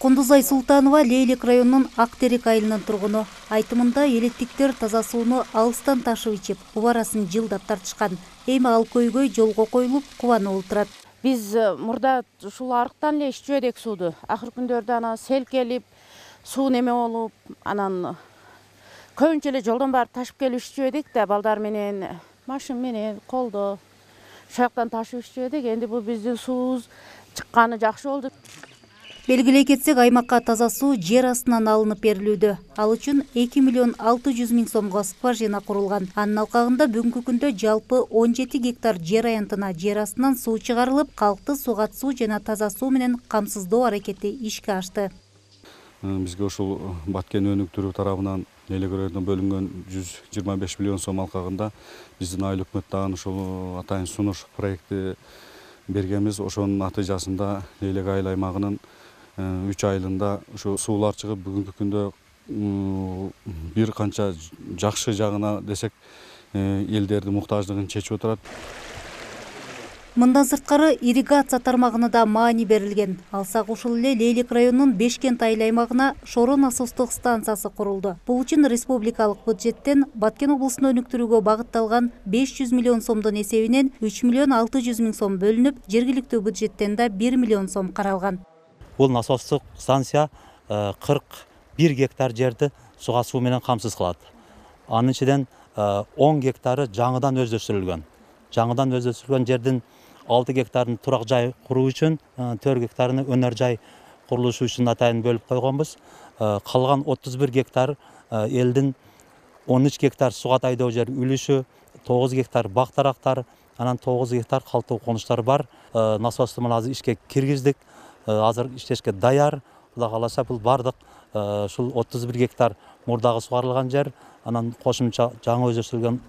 Кундузай Султанова Лейлек районунун Актерек айылынын тургуну. Айтымында элеттиктер таза сууну алыстан ташып ичип, убарасын жылдап тартышкан. Эми ал көйгөй жолго коюлуп, кубанып отурат. Биз мурда ушул арыктан эле иччү эдик сууду. Акыркы күндөрдө ана сел келип, суу неме болуп, анан көбүнчө эле жолдон барып ташып келип иччү эдик да, балдар менен, машина менен, колдо. Ошол жактан ташып иччү эдик. Энди бул биздин суубуз чыкканы жакшы болду. Белгилей кетсек, аймакка таза суу жер астынан алынып берилүүдө. Ал үчүн 2 миллион 600 миң сомго скважина курулган. Анын алкагында бүгүнкү күндө жалпы 17 гектар жер аянтына жер астынан суу чыгарылып, калкты сугат суу жана таза суу менен камсыздоо аракети ишке ашты. Бизге ушул Баткен өнүктүрүү тарабынан Лейлек районуна бөлүнгөн 125 миллион сом алкагында биздин айыл өкмөт дагы ушул атайын сунуш проекти бергенбиз. Ошонун натыйжасында Лейлек айыл аймагынын 3 айылында ушу суулар чыгып, бүгүнкү күндө бир канча жакшы жагына десек, элдердин муктаждыгын чечип отурат. Мындан сырткары ирригация тармагына да маани берилген. Алсак ушул эле Лейлек районунун Бешкент айыл аймагына Шоро насостук станциясы курулду. Бул үчүн республикалык бюджеттен Баткен облусун өнүктүрүүгө багытталган 500 миллион сомдун эсебинен 3 миллион 600 миң сом бөлүнүп, жергиликтүү бюджеттен да 1 миллион сом каралган. Бул насостук станция 41 гектар жерди суга суу менен камсыз кылат. Анын ичинен 10 гектары жаңыдан өздөштүрүлгөн. Жаңыдан өздөштүрүлгөн жердин 6 гектарын турак жай куруу үчүн, 4 гектарын өнөр жай курулушу үчүн атайын бөлүп койгонбуз. Калган 31 гектар элдин 13 гектар сугат айдоо жер үлүшү, 9 гектар бак тарактар, анан 9 гектар калктуу конуштар бар. Насосту мына азыр ишке киргиздик. Азыр иштешке даяр. Кудай кааласа бул бардык ушул 31 гектар мурдагы сугарылган жер, анан кошумча жаңы өздөштүрүлгөн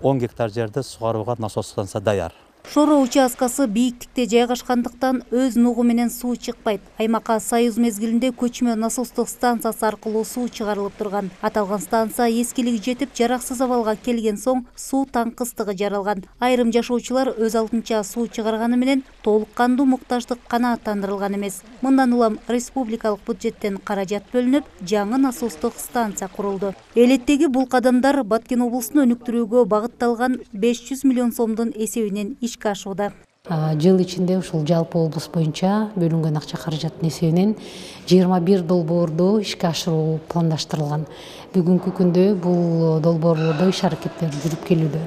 10 гектар жерди сугарууга насос станция даяр. Шоро участкасы бийиктикте жайгашкандыктан өз нугу менен суу чыкпайт. Аймакка Союз мезгилинде көчмө насостук станциясы аркылуу суу чыгарылып турган. Аталган станция эскилиги жетип, жараксыз абалга келген соң суу таңкыстыгы жаралган. Айрым жашоочулар өз алдынча суу чыгарганы менен толук кандуу муктаждык канааттандырылган эмес. Мындан улам республикалык бюджеттен каражат бөлүнүп, жаңы насостук станция курулду. Элеттеги бул кадамдар Баткен облусун өнүктүрүүгө багытталган 500 миллион сомдун эсебинен ишке ашууда. Жыл ичинде ушул жалпы облус боюнча бөлүнгөн акча каражаттын эсебинен 21 долбоорду ишке ашыруу пландаштырылган. Бүгүнкү күндө бул долбоорлордо иш аракеттер жүрүп келүүдө.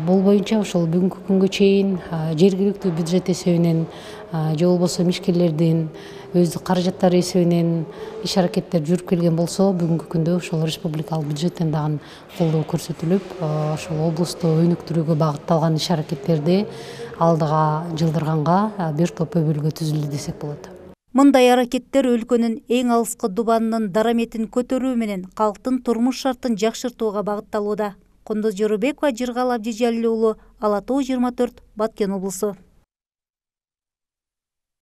Бул боюнча ошол бүгүнкү күнгө чейин жергиликтүү бюджет эсебинен же болбосо ишкерлердин өздүк каражаттары эсебинен иш аракеттер жүрүп келген болсо, бүгүнкү күндө ошол республикалык бюджеттен дагы колдоо көрсөтүлүп, ошол облусту өнүктүрүүгө багытталган иш аракеттерди алдыга жылдырганга бир топ өбөлгө түзүлдү десек болот. Мындай аракеттер өлкөнүн эң алыскы дубанынын дараметин көтөрүү менен калктын турмуш шартын жакшыртууга багытталууда. Кундуз Жорубекова, Жыргал Абдижалил уулу, Ала Тоо 24, Баткен облусу.